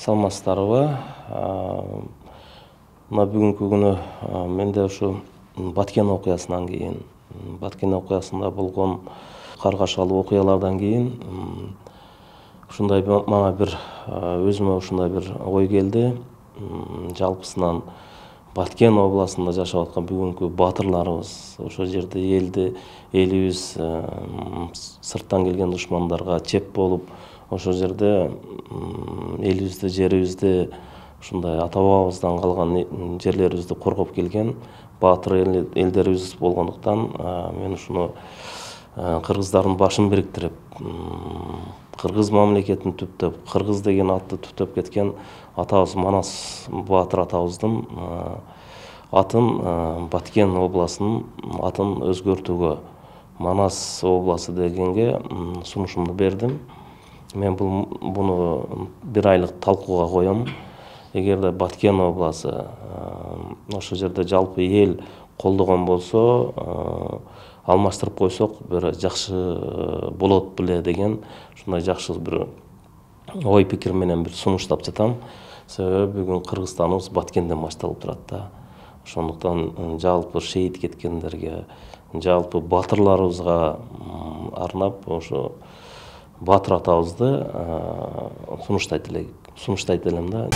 Саламатсыздарбы? Мына бүгүнкү күнү менде ушу Баткен окуясынан кийин, Баткен окуясында болгон каргашалуу окуялардан кийин ушундай мага бир өзүмө ушундай бир ой келди. Жалпысынан Баткен областында жашап аткан бүгүнкү баатырларыбыз, ошол жерде элибиз сырттан келген душмандарга чеп болуп, ошол жерде элибизди, жерибизди, ушундай ата бабабыздан калган жерлерибизди коргоп келген баатыр элдерибиз болгондуктан мен ушуну кыргыздардын башын бириктирип, кыргыз мамлекетин түптөп, кыргыз деген атты түптөп кеткен атабыз Манас баатыр атабыздын атын, Баткен областынын атын өзгөртүүгө, Манас областы дегенге сунушумду бердим. Мен буну бир айлык талкууга коем. Эгерде Баткен областы ошол жерде жалпы эл колдогон болсо, алмаштырып койсок, бир жакшы болот беле деген ушундай жакшы бир ой пикир менен бир сунуштап жатам. Себеби бүгүн Кыргызстаныбыз Баткенден башталып турат да. Ошондуктан жалпы шейит кеткендерге, жалпы баатырларыбызга арнап ошо баатыр атабызды сунуштайт элем да.